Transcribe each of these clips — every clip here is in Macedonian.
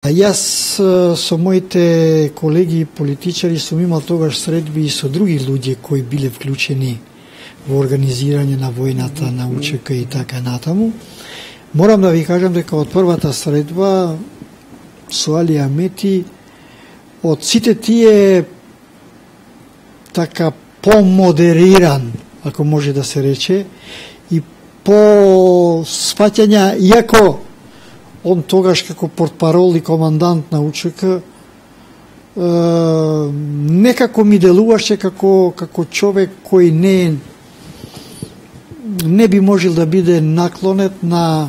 Јас со моите колеги политичари сум имал тогаш средби и со други луѓе кои биле вклучени во организирање на војната на УЧК и така натаму. Морам да ви кажам дека од првата средба со Али Амети, од сите тие така помодериран, ако може да се рече, и по сваќања, иако он тогаш како портпарол и командант на УЧК некако ми делуваше како човек кој не би можел да биде наклонет на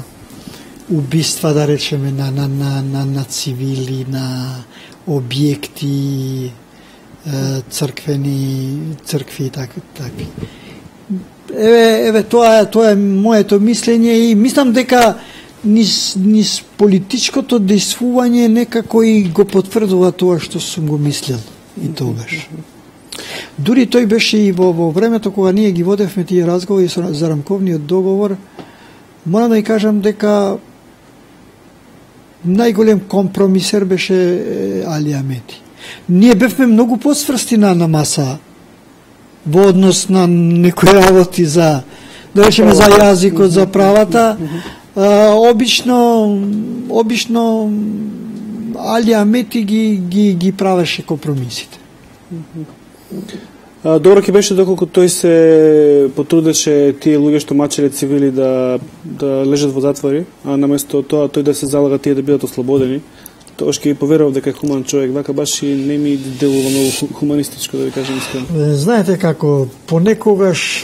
убиства, да речеме, на цивили, на објекти, цркви и такви. Еве тоа е моето мислење и мислам дека низ политичкото дејствување некако и го потврдува тоа што сум го мислел и тогаш. Дури тој беше и во времето кога ние ги водевме тие разговори за рамковниот договор, морам да ја кажам дека најголем компромисер беше Али Амети. Ние бевме многу посврсти на маса во однос на некои работи за, да речеме, за јазикот, за правата. Обично Али Амети ги правеше компромисите. Добро ќе беше доколку тој се потрудеше тие луѓе што мачеле цивили да лежат во затвори, а наместо тоа тој да се залага тие да бидат ослободени. Тоа ќе поверував дека е хуман човек, вака баш и не ми делува многу хуманистичко, да ви кажам искрено. Знаете како, понекогаш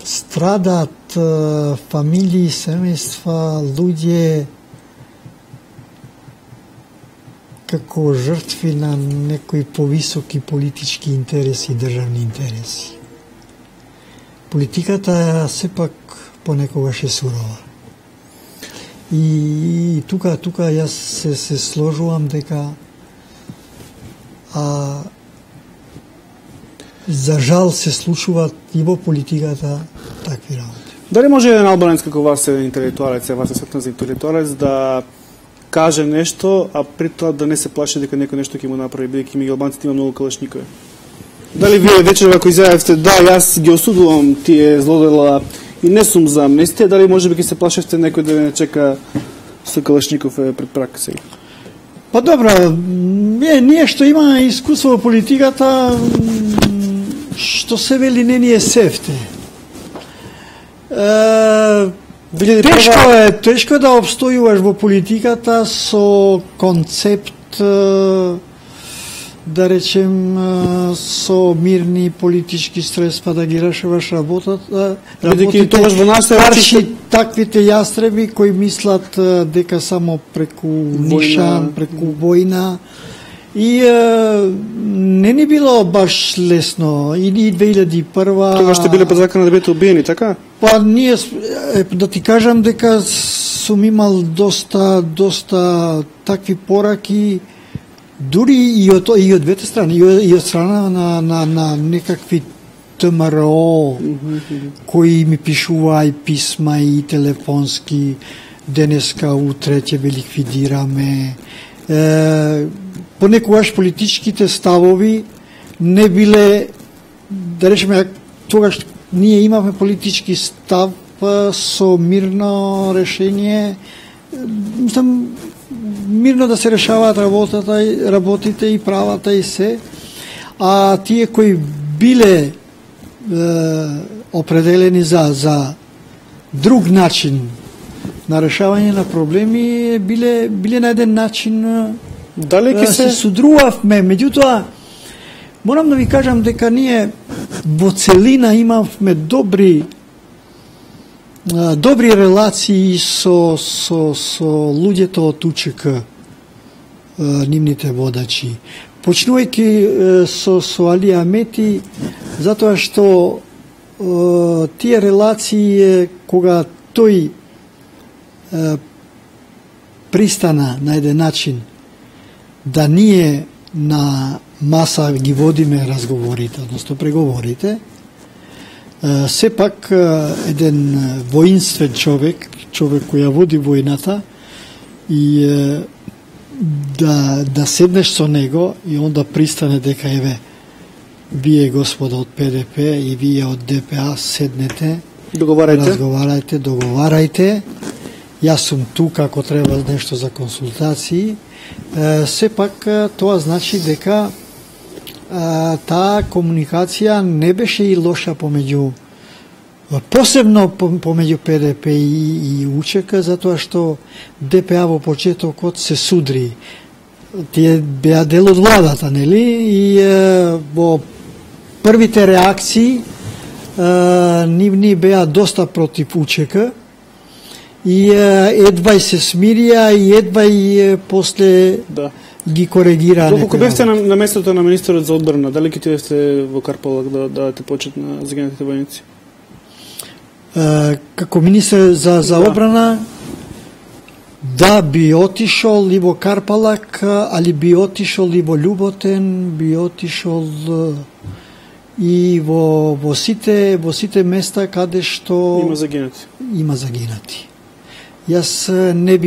страдат фамилии, семејства, луѓе како жртви на некои повисоки политички интереси и државни интереси. Политиката сепак понекогаш е сурова. И тука јас се сложувам дека за жал се случуваат и во политиката такви работи. Дали може еден албанец како вас е интелектуалец, вас е сметна за интелектуалец, да каже нешто, а при тоа да не се плаши дека некој нешто ќе му направи, бидејќи ми албанците има многу калашникови? Дали вие вечер ако изјавивте да, јас ги осудувам тие злодела и не сум за амнестија, дали можеби ќе се плашевте некој да не чека со калашников пред прак сега? Па добро, ние што имаме искуство во политиката, што се вели не ни е сефте. Тешко е да обстојуваш во политиката со концепт, да речем, со мирни политички средства да ги решаваш работите, таквите јастреби кои мислат дека само преку нишан, преку војна. И не ни било баш лесно. И 2001... Тогаш сте биле под закана да бидете убиени, така? Па ние, да ти кажам дека сум имал доста такви пораки, дури и од двете страни, и од страна на некакви ТМРО, кои ми пишува и писма и телефонски, денеска, утре ќе ве ликвидираме. Понекогаш политичките ставови не биле, да речеме, тогаш ние имавме политички став со мирно решение, мирно да се решаваат работите и правата и се, а тие кои биле определени за друг начин на решавање на проблеми, биле на еден начин дали се судрувавме. Меѓутоа, морам да ви кажам дека ние во целина имавме добри релации со луѓето од УЧК, нивните водачи. Почнувајќи со Али Амети, затоа што тие релации, кога тој пристана на еден начин да ние на маса ги водиме разговорите, односто преговорите, сепак еден воинствен човек кој ја води војната, и да седнеш со него и онда пристане дека еве вие господа од ПДП и вие од ДПА седнете, разговарајте, договарајте. Јас сум тука ако треба нешто за консултации. Сепак тоа значи дека таа комуникација не беше и лоша посебно помеѓу ПДП и УЧК, затоа што ДПА во почетокот се судри. Тие беа дел од владата, нели? И во првите реакции нивни беа доста против УЧК и едва се смирија и едва и после ги коригираа. Доколку бевте на местото на министерот за одбрана, дали ќе отидете во Карпалак да дадете почет на загинатите војници? Како министер за одбрана, да, би отишол и во Карпалак, али би отишол и во Љуботен, би отишол и во сите места каде што има загинати. Јас не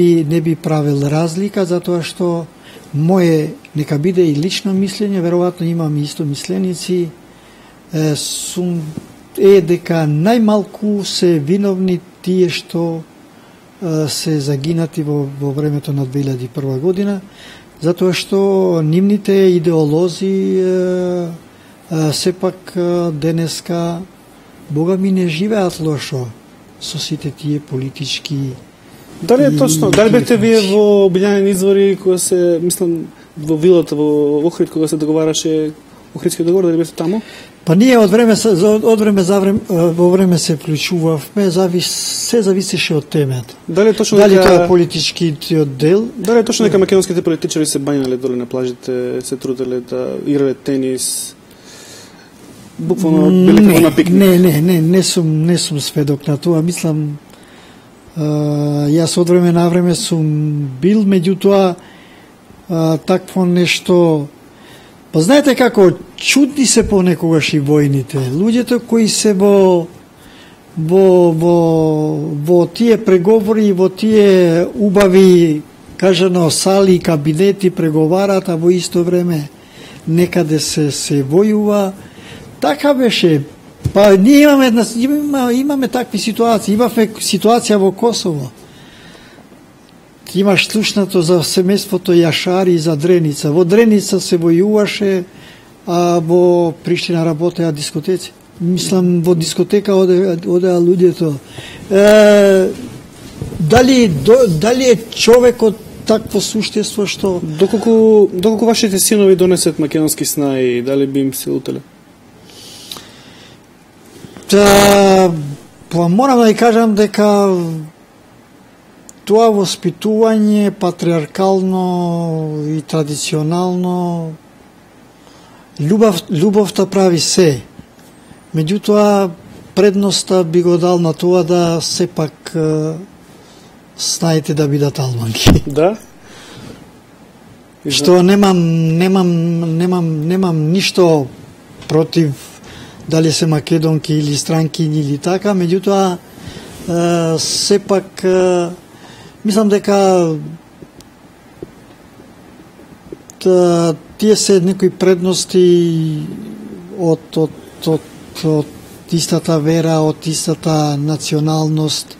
би правил разлика, затоа што мое, нека биде и лично мислење, веројатно имам исто мисленици, дека најмалку се виновни тие што се загинати во времето на 2001 година, затоа што нивните идеолози сепак денеска Бога ми не живеат лошо со сите тие политички. Дали е точно? Дали бете вие во Обилјанени извори кога се, мислам, во вилата во Охрид кога се договараше Охридскиот договор, дали бете таму? Па ние од време во време се вклучувавме, се зависеше од темата. Дали точно дека тоа е политичкиот дел? Дали е точно дека македонските политичари се бањале доле на плажите, се труделе да играле тенис? Буквално биле како на пикник. Не сум сведок на тоа. Мислам, јас од време на време сум бил, меѓутоа такво нешто. Па знаете како чудни се понекогаш и војните. Луѓето кои се во тие преговори, во тие убави, кажано, сали, кабинети преговарат, а во исто време некаде се војува. Така беше. Па ние имаме такви ситуации. Имаме ситуација во Косово. Имаш слушнато за семејството Јашари за Дреница. Во Дреница се војуваше, а во Приштина работеа дискотеци. Мислам, во дискотека одеа луѓето. Дали е човекот такво суштество што... Доколку вашите синови донесат македонски снаи, дали би им се утеле? Морам да ја кажам дека тоа воспитување патриаркално и традиционално, љубовта прави се. Меѓутоа, предноста би го дал на тоа да сепак снаите да бидат алманки. Да? Што немам ништо против дали се македонки или странкини или така, меѓутоа сепак мислам дека тие се некои предности од истата вера, од истата националност.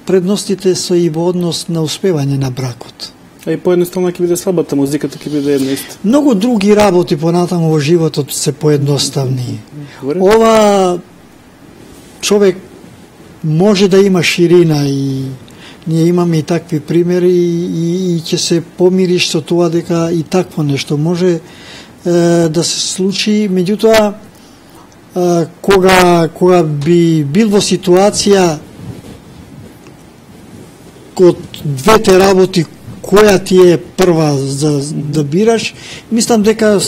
Предностите се и во однос на успевање на бракот. А и поедноставно ќе биде слабата, музиката ќе биде една иста. Многу други работи понатаму во животот се поедноставни. Ова човек може да има ширина и ние имаме и такви примери и ќе се помириш со тоа дека и такво нешто може да се случи. Меѓутоа, кога би бил во ситуација од двете работи која ти е прва да бираш, мислам дека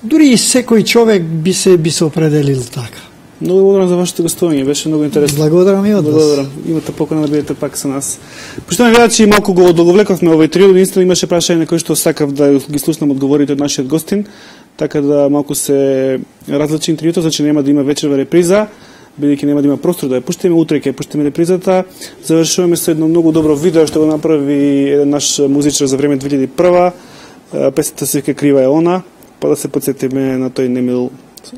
дури и секој човек би се определил така. Многу благодарам за вашето гостување, беше многу интересно. Благодарам и од вас. Благодарам. Имате покана да бидете пак со нас. Поштовани гледачи, малку го одговлековме овој трио, единствено имаше прашање на кои што сакав да ги слушнам одговорите од нашиот гостин, така да малку се различи интервјуто, значи нема да има вечерва реприза. бидејќи нема да има простор да ја пуштиме, утре ќе пуштиме репризата. Завршуваме со едно многу добро видео што го направи еден наш музичар за време 2001. Песната се вика Крива е она, па да се подсетиме на тој немил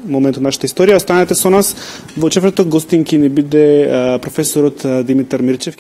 момент од нашата историја. Останете со нас. Во четврток гостинки ни биде професорот Димитар Мирчев.